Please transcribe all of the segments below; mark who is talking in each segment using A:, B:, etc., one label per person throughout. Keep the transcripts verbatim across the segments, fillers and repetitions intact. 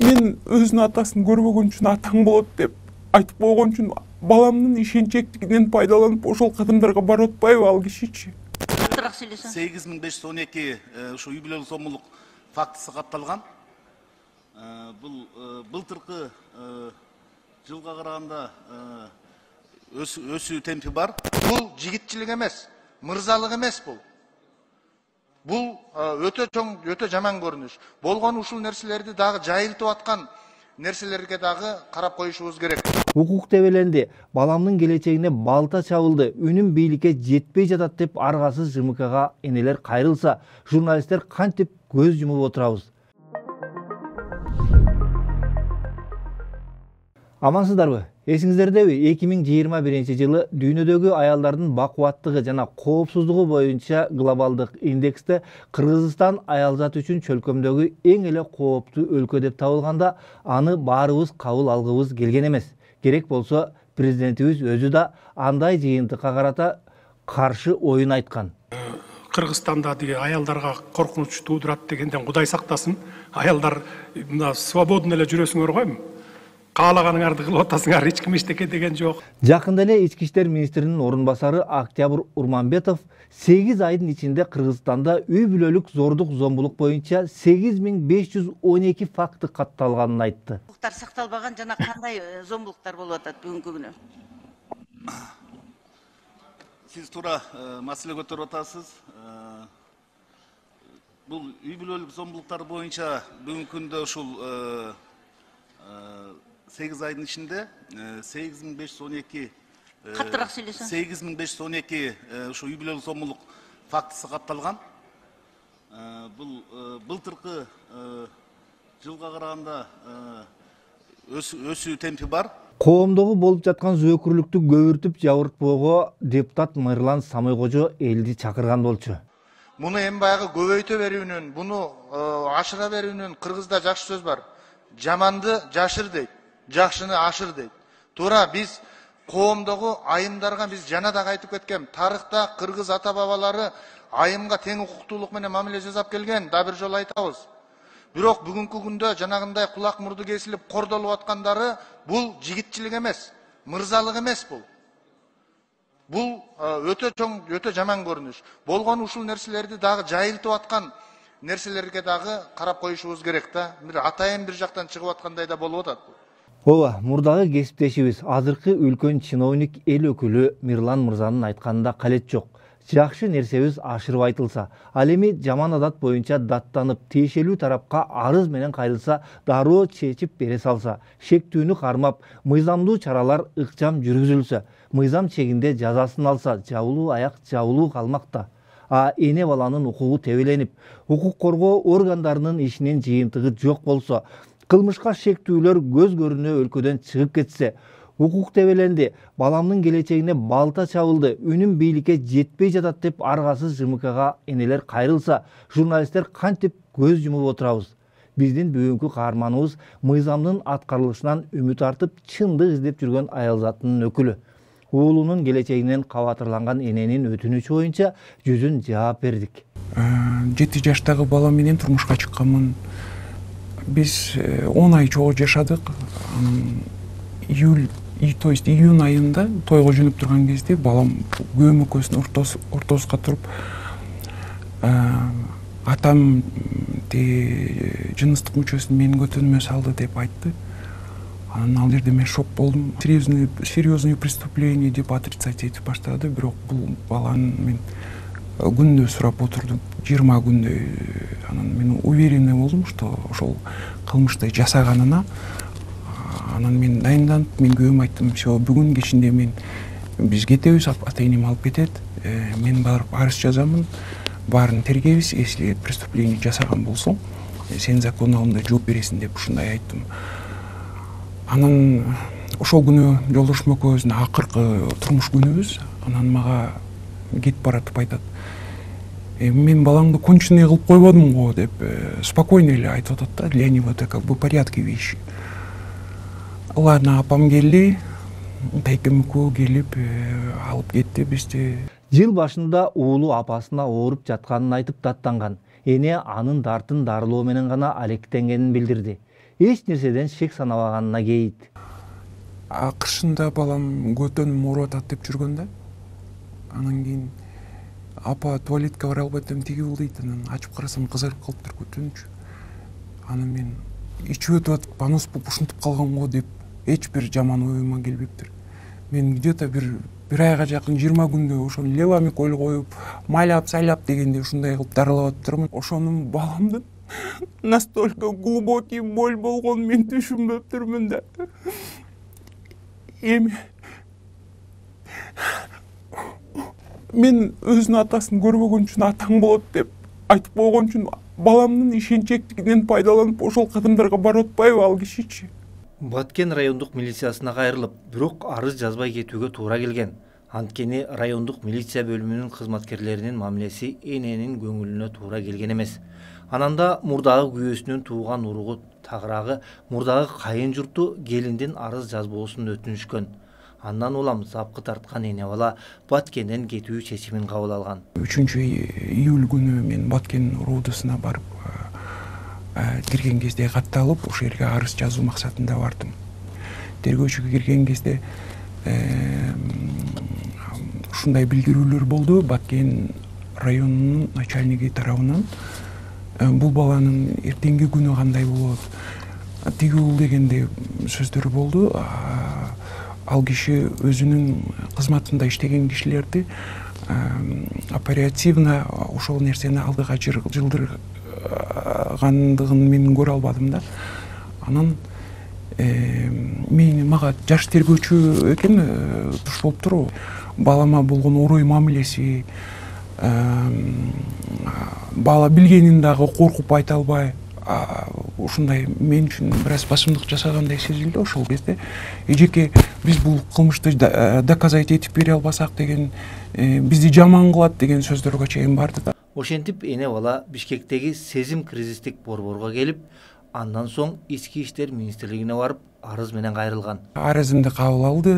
A: мен өзүнүн атасын көрбөгөн үчүн атаң болот деп айтып койгон үчүн баламдын ишенчектигинен пайдаланып ошол кадамдарга барып атпайбы ал кишичи?
B: сегиз миң беш жүз он эки ушу үй бүлөлүк зомбулук фактысы катталган. Бул былтыркы жылга караганда өсүү темпи бар.
C: Бул жигитчилик эмес, мырзалык эмес бул. Бул өтө чоң, өтө жаман көрүнүш. Болгон ушул нерселерди дагы жайылтып аткан нерселерге дагы карап коюшубуз керек.
D: Укук тебеленди. Баламдын келечегине балта чабылды. Үнүм бийликке жетпей жатат деп аргасыз ЖМКга энелер кайрылса, журналисттер кантип көз жумуп отурабыз? Амансыздарбы? Эсиңиздердеби? эки миң жыйырма биринчи жылы дүйнөдөгү аялдардын бакубаттыгы жана коопсуздугу боюнча глобалдык индексте Кыргызстан аялзат үчүн чөлкөмдөгү эң эле кооптуу өлкө деп табылганда, аны баарыбыз кабыл алгыбыз келген эмес. Керек болсо, президентибиз өзү да андай жыйынтыкка карата каршы оюн айткан.
E: Кыргызстанда деги аялдарга коркунуч туудурат дегенден Кудай сактасын. Аялдар мына свободно эле жүрөсүңөр койм. Каалаганыңарды кылып атасыңар, эч ким эчтеке деген жок.
D: Жакында эле ички иштер министринин орун басары Октябрь Урманбетов сегиз айдын ичинде Кыргызстанда үй бүлөлүк зордук зомбулук боюнча сегиз миң беш жүз он эки факты катталганын айтты.
F: Укуктар сакталбаган жана кандай зомбулуктар болуп атат бүгүнкү күнү?
B: Сиз туура маселе көтөрүп атасыз. Бул үй бүлөлүк зомбулуктар боюнча бүгүнкү күндө ушул сегиз айдын ичинде сегиз миң беш жүз он эки
F: каттыраак сүйлөсөң.
B: сегиз миң беш жүз он эки ушу үй бүлөлүк зомбулук фактысы катталган. Бул былтыркы жылга караганда өсүү темпи бар.
D: Коомдогу болуп жаткан зөөкүрлүктү көбүртүп жабыртпоого депутат Мырлан Самойкожо элди чакырган болчу.
C: Муну эми баягы көбөйтө берүүнүн, буну ашыра берүүнүн кыргызда жакшы сөз бар. Жаманды жашыр дейт, жакшыны ашыр дейт. Туура биз коомдогу айымдарга биз жана да айтып кеткен. Тарыхта кыргыз ата бабалары айымга тең укуктуулук менен мамиле жасап келген, да бир жолу айтабыз. Бирок бүгүнкү күндө жанагындай кулак мурду кесилип кордолуп аткандары бул жигитчилик эмес, мырзалык эмес бул. Бул өтө чоң, өтө жаман көрүнүш. Болгон ушул нерселерди дагы жайылтып аткан нерселерге дагы карап коюшубуз керек да. Бир атайын бир жактан чыгып аткандай да болуп атат.
D: Ооба, мурдагы кесиптешибиз, азыркы үлкөн чиновник эл өкүлү Мирлан мырзанын айтканында калет жок. Жакшы нерсебиз ашырып айтылса, ал эми жаман адат боюнча даттанып, тиешелүү тарапка арыз менен кайрылса, дароо чечип бере салса, шектүүнү кармап, мыйзамдуу чаралар ыкчам жүргүзүлсө, мыйзам чегинде жазасын алса, жабылуу аяк жабылуу калмакта. А эне баланын укугу тебеленип, укук коргоо органдарынын ишинин жыйынтыгы жок болсо, кылмышка шектүүлөр көз көрүнө өлкөдөн чыгып кетсе, укук тебеленди, баламдын келечегине балта чабылды, үнүм бийликке жетпей жатат деп аргасыз ЖМКга энелер кайрылса, журналисттер кантип көз жумуп отурабыз? Биздин бүгүнкү каарманыбыз мыйзамдын аткарылышынан үмүт артып, чындык издеп жүргөн аялзатынын өкүлү. Уулунун келечегинен кабатырланган эненин өтүнүчү боюнча жүзүн жаап бердик.
G: жети жаштагы бала менен турмушка чыкканмын. Биз он ай чогуу жашадык. Июль, то есть июнь айында тойго жөнөп турган кезде балам көмөкөсүнүн ортосуна туруп, атам жыныстык мүчөсүн менин көтөнүмө салды деп айтты. Анан ал жерде мен шок болдум. Серьезный, серьезное преступление деп отрицать этип баштады, бирок бул баланы мен күндө сурап отурдум, жыйырма күндөй. Анан мен уверенный болдум, что ошол кылмышты жасаганына. Анан мен дайынданып, мен күйөөмө айттым, все, бүгүн кечинде мен биз кетебиз, ата-энем алып кетет, мен барып арыз жазамын, баарын тергейбиз, если преступление жасаган болсоң, сен закон алдында жооп бересиң деп ушундай айттым. Анан ошол күнү жолдошум экөөбүздүн акыркы турмуш күнүбүз. Анан мага кетип баратып айтат, мен балаңды конченый кылып койбодум го деп спокойно эле айтып атат да, для него это как бы порядке вещи. Ладно, апам келди, тайкем экөө келип алып кетти бизди.
D: Жыл башында уулу апасына ооруп жатканын айтып даттанган. Эне анын дартын дарылоо менен гана алектенгенин билдирди. эч нерседен шек санабаганына кейит.
G: Акыршында балам көтөнүм ооруп атат деп жүргөн да. Анан кийин апа туалетке бара албай атам тиги бул дейт. Анан ачып карасам кызарып калыптыр көтөнчү. Анан мен ичип өтүп атып понос болуп ушинтип калганго деп эч бир жаман оюма келбептир. Мен где-то бир бир айга жакын жыйырма күндө ошону левомиколь коюп, майлап, сайлап дегенде ушундай кылып дарылап атыптырмын. Ошонун баламдын настолько глубокий боль болгонун мен түшүнбөптүрмүн да. Эми мен өзүнүн атасын көрбөгөн үчүн атаң болот деп айтып койгон үчүн баламдын ишенчектигинен пайдаланып ошол кадамдарга барып атпайбы ал кишичи?
D: Баткен райондук милициясына кайрылып, бирок арыз жазбай кетүүгө туура келген. Анткени райондук милиция бөлүмүнүн кызматкерлеринин мамилеси эненин көңүлүнө туура келген эмес. Ананда мурдагы күйөөсүнүн тууган уругу тагыраагы мурдагы кайын журту келиндин арыз жазбоосун өтүнүшкөн. Андан улам запкы тарткан эне бала Баткенден кетүү чечимин кабыл алган.
G: үчүнчү июль күнү мен Баткен РУДсына барып кирген кезде катты алып, ошол жерге арыз жазуу максатында бардым. Тергөөчүгө кирген кезде ушундай билдирүүлөр болду. Баткен районунун начальниги тарабынан бул баланын эртеңки күнү кандай болот, тиги бул дегенде сөздөр болду. Ал киши өзүнүн кызматында иштеген кишилерди оперативно ошол нерсени алдыга жылдыргандыгын мен көрө албадым да. Анан мени мага жаш тергөөчү экен туш болуптур. Балама болгон орой мамилеси, бала билгенин дагы коркуп айта албай, ушундай мен үчүн бир аз басымдык жасагандай сезилди ошол кезде. Эжеке биз бул кылмышты доказать этип бере албасак деген, бизди жаман кылат деген сөздөргө чейин барды да.
D: Ошентип эне бала Бишкектеги сезим кризистик борборго келип, андан соң Ички иштер министрлигине барып арыз менен кайрылган.
G: Арызымды кабыл алды,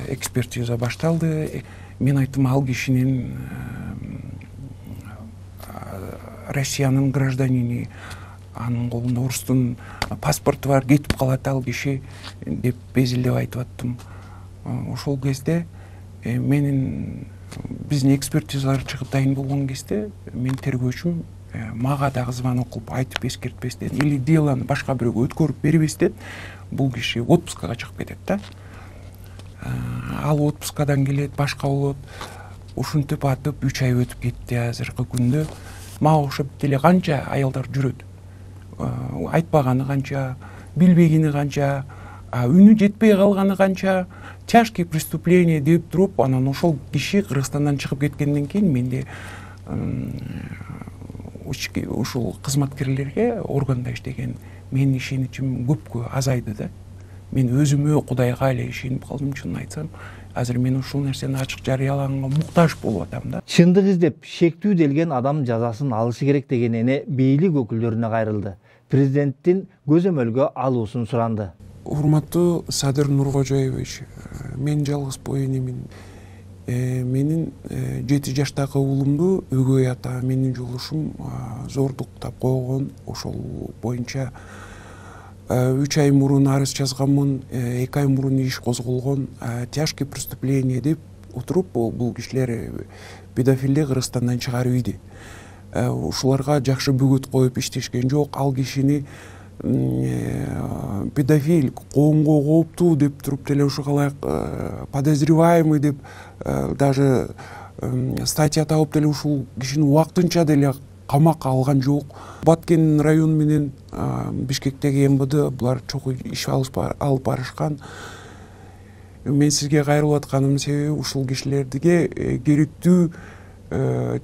G: экспертиза башталды. Мен айттым, ал кишинин Россиянын гражданини, анын колунда орустун паспорту бар, кетип калат ал киши деп безилдеп айтып аттым. Ошол кезде менин биздин экспертизалар чыгып дайын болгон кезде мен тергөөчүм мага дагы звонок кылып айтып эскертпестен или делону башка бирөөгө өткөрүп бербестен бул киши отпускага чыгып кетет да. Ал отпускадан келет, башка болот. Ушинтип атып үч ай өтүп кетти азыркы күндө. Мага окшоп деле канча аялдар жүрөт. Айтпаганы канча, билбегени канча, үнү жетпей калганы канча, тяжкие преступления деп туруп, анан ошол киши Кыргызстандан чыгып кеткенден кийин менде ушул кызматкерлерге, органда иштеген менин ишеничим көпкө азайды да. Мен өзүмө, Кудайга эле ишенип калдым, чынын айтсам. Азыр мен ушул нерсени ачык жарыялаганга муктаж болуп атам да.
D: Чындык издеп, шектүү делген адам жазасын алышы керек деген эне бийлик өкүлдөрүнө кайрылды. Президенттин көзөмөлгө алуусун суранды.
G: Урматтуу Садыр Нуркожоевич, мен жалгыз бой энемин. Менин жети жаштагы уулумду өгөй ата менин жолдошум зордуктап койгон. Ошол боюнча үч ай мурун арыз жазганмын, эки ай мурун иш козголгон, тяжкие преступления деп отуруп бул кишилер педофилди Кыргызстандан чыгарып ийди. Ушуларга жакшы бөгөт коюп иштешкен жок. Ал кишини педофил, коомго кооптуу деп туруп деле ушуга ылайык подозреваемый деп даже статья табып деле ушул кишини убактынча деле камакка алган жок. Баткен район менен Бишкектеги эм бэ дэ булар чогуу иш алып барышкан. Мен сизге кайрылып атканым себеби ушул кишилерге керектүү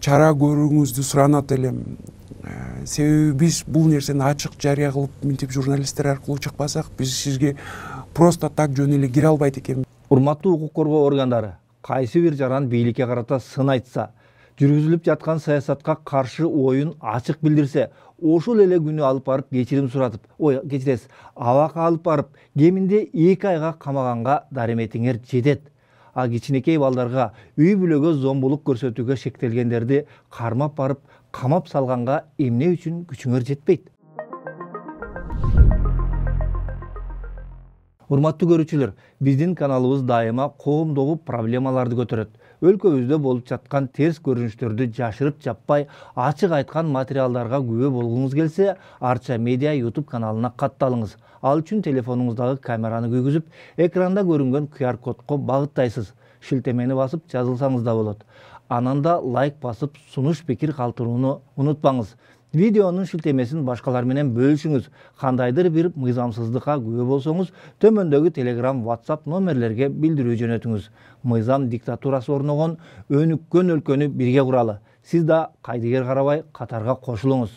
G: чара көрүүңүздү суранат элем. Себеби биз бул нерсени ачык жарыя кылып, мынтип журналисттер аркылуу чыкпасак, биз сизге просто так жөн эле кире албайт экенбиз.
D: Урматтуу укук коргоо органдары, кайсы бир жаран бийликке карата сын айтса, жүргүзүлүп жаткан саясатка каршы оюн ачык билдирсе, ошол эле күнү алып барып кечирим суратып, ой, кечиресиз, абакка алып барып, кеминде эки айга камаганга дареметиңер жетет. А кичинекей балдарга үй бүлөгө зомбулук көрсөтүүгө шектелгендерди кармап барып, камап салганга эмне үчүн күчүңөр жетпейт? Урматтуу көрүүчүлөр, биздин каналыбыз дайыма коомдогу проблемаларды көтөрөт. Өлкөбүздө болуп жаткан терс көрүнүштөрдү жашырып жаппай, ачык айткан материалдарга күбө болгуңуз келсе, Арча Медиа YouTube каналына катталыңыз. Ал үчүн телефонуңуздагы камераны күйгүзүп, экранда көрүнгөн ку ар кодко багыттайсыз. Шилтемени басып жазылсаңыз да болот. Анан да лайк басып, сунуш пикир калтырууну унутпаңыз. Видеонун шилтемесин башкалар менен бөлүшүңүз. Кандайдыр бир мыйзамсыздыкка күбө болсоңуз, төмөндөгү Telegram, WhatsApp номерлерге билдирүү жөнөтүңүз. Мыйзам диктатурасы орногон өнүккөн өлкөнү бирге куралы. Сиз да кайдыгер карабай катарга кошулуңуз.